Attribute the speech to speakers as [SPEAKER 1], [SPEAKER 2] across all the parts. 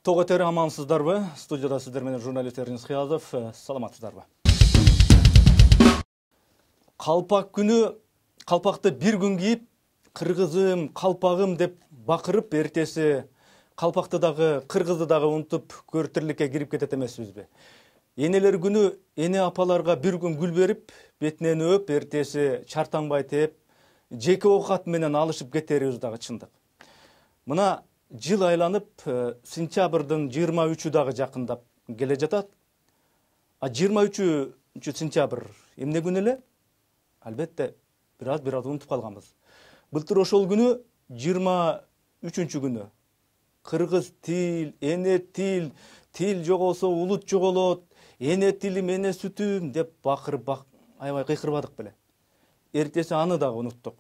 [SPEAKER 1] Тоготер амансыздарбы? Студияда сиздер менен журналист Эрнис Кыязов. Саламатсыздарбы? Калпак күнү калпакты бир күн кийип, кыргызым, калпагым деп бакырып, эртеси калпакты дагы, кыргызды дагы унутуп, көр тирликке кирип кетет эмеспизби? Энелер күнү эне апаларга бир күн гүл берип, бетинен өп, эртеси чартаңбай тээп, жеке оокат менен алышып кетерибиз дагы чындык. Мына жыл айланып, сентябрдын 23-ü дагы жакындап келе жатат. А 23 сентябрь эмне күн эле? Албетте, бир аз унутуп калганбыз. Былтыр ошол күнү 23 күнү кыргыз тил, эне тил, тил жоголсо улут жоголот, эне тилим, эне сүтүм деп бакырып аябай кыйкырбадык беле. Эртеси аны дагы унуттук.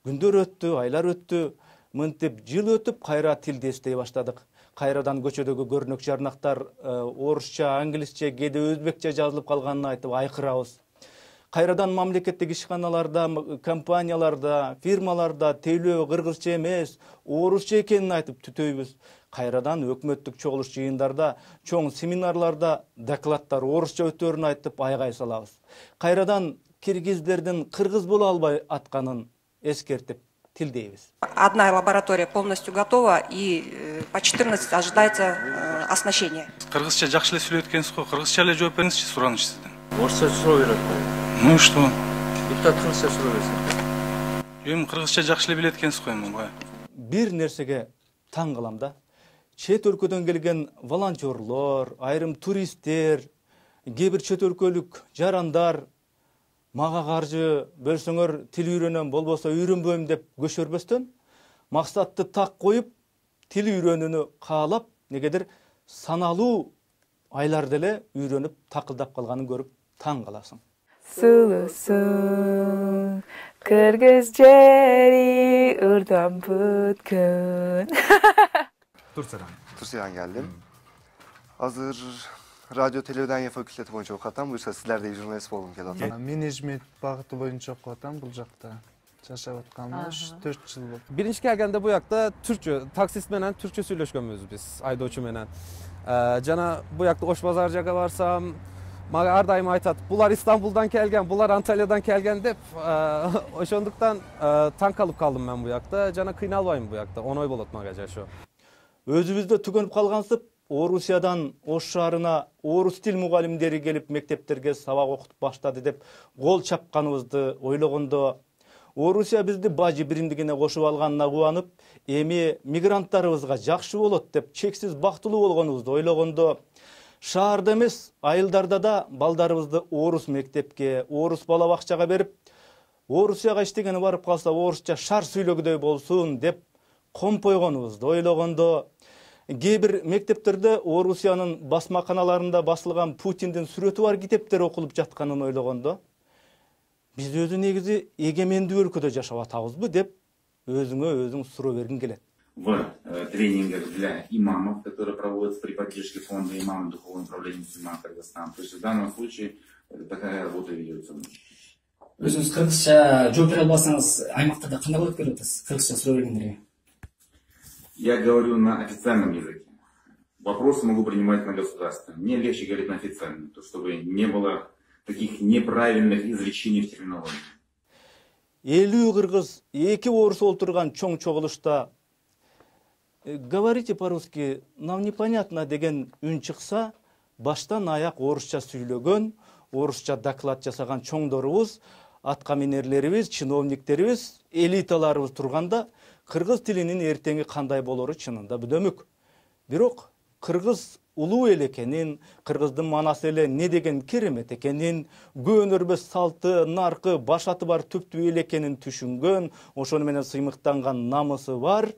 [SPEAKER 1] Күндөр өттү, айлар өттү, мынтип жыл өтүп, кайра тилди эстей баштадык. Кайрадан көчөдөгү көрүнөк жарнактар орусча, англисче, кээде өзбекче жазылып калганын айтып айкырабыз. Кайрадан мамлекеттик ишканаларда, компанияларда, фирмаларда тейлөө кыргызча эмес, орусча экенин айтып түтөйбүз. Кайрадан өкмөттүк чогулуш жыйындарда, чоң семинарларда докладдар орусча өтөөрүн айтып айгай салабыз. Кайрадан киргиздердин кыргыз боло албай атканын эскертип тилдейбиз.
[SPEAKER 2] Одна лаборатория полностью готова и по 14 ожидается оснащение.
[SPEAKER 3] Кыргызча жакшы эле сүйлөйт экенсиз го, кыргызча эле жооп бериңизчи сураныч сизден.
[SPEAKER 4] Орусча суроо берет.
[SPEAKER 3] Ну и что?
[SPEAKER 4] Депутат кыргызча суроо берсин.
[SPEAKER 3] Эми кыргызча жакшы эле билет экенсиз го эми бая.
[SPEAKER 1] Бир нерсеге таң калам да. Чет өлкөдөн келген волонтерлор, айрым туристтер, кээ бир чет өлкөлүк жарандар мага каржы бөлсөңөр тил үйрөнөм, болбосо үйрөнбөйм деп көшөрбөстөн, максатты так коюп, тил үйрөнүүнү каалап, негедир саналуу айларда эле үйрөнүп, такылдап калганын көрүп таң каласың.
[SPEAKER 5] Сулусуң, кыргыз жери ырдан бүткөн.
[SPEAKER 6] Турциядан келдим. Азыр радио телевидение факультети боюнча окуп атам. Буюрса силердей журналист болгум келип атам.
[SPEAKER 7] Менеджмент багыты боюнча окуп атам бул жакта. Жашап атканыма 4 жыл болду.
[SPEAKER 8] Биринчи келгенде бу жакта түркчө, таксист менен түркчө сүйлөшкөнбүз биз, айдоочу менен. Жана бу жакта Ош базар жакка барсам, мага ар дайым айтат, булар Истанбулдан келген, булар Анталиядан келген деп. Ошондуктан таң калып калдым мен бу жакта, жана кыйналбайм бу жакта, оңой болот мага жашоо.
[SPEAKER 1] Өзүбүздө түгөнүп калгансып, Орусиядан Ош шаарына орус тил мугалимдери келип мектептерге сабак окутуп баштады деп кол чапканыбызды ойлогондо, Орусия бизди бажы биримдигине кошуп алганына кубанып, эми мигранттарыбызга жакшы болот деп чексиз бактылуу болгонубузду ойлогондо, шаарда эмес, айылдарда да балдарыбызды орус мектепке, орус бала бакчага берип, Орусияга иштегени барып калса орусча шар сүйлөгүдөй болсун деп компойгонубузду ойлогондо, кээ бир мектептерде Орусиянын басмаканаларында басылган Путиндин сүрөтү бар китептер окулуп жатканын ойлогондо, биз өзү негизи эгемендүү өлкөдө жашап атабызбы деп өзүңө өзүң суроо бергиң келет.
[SPEAKER 9] В тренингах для имамов, которые проводятся при поддержке фонда имамов Духовного управления мусульман Кыргызстана. То есть в данном случае такая работа ведется.
[SPEAKER 10] Өзүңүз кыргызча жооп бере албасаңыз, аймактарда кандай болуп берип атасыз? Кыргызча суроо бергендерге.
[SPEAKER 9] Я говорю на официальном языке. Вопросы могу принимать на государственном. Мне легче говорить на официальном, чтобы не было таких неправильных изречений в терминологии.
[SPEAKER 1] 50 кыргыз, 2 орус олтурган чоң чогулушта говорите по-русски, нам непонятно деген үн чыкса, баштан аяк орусча сүйлөгөн, орусча доклад жасаган чоңдорубуз, аткаминерлерибиз, чиновниктерибиз, элиталарыбыз турганда, кыргыз тилинин эртеңи кандай болору чынында бүдөмүк. Бирок кыргыз улуу эл экенин, кыргыздын манасы эле не деген керемет экенин, көөнөрбөс салты, наркы, башаты бар түптүү эл экенин түшүнгөн, ошону менен сыймыктанган намысы бар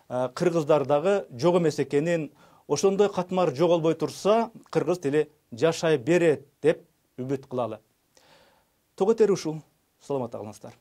[SPEAKER 1] кыргыздардагы жок эмес экенин, ошондой катмар жоголбой турса, кыргыз тили жашай берет деп үмүт кылалы. Тоготер ушул. Саламатта калыңыздар.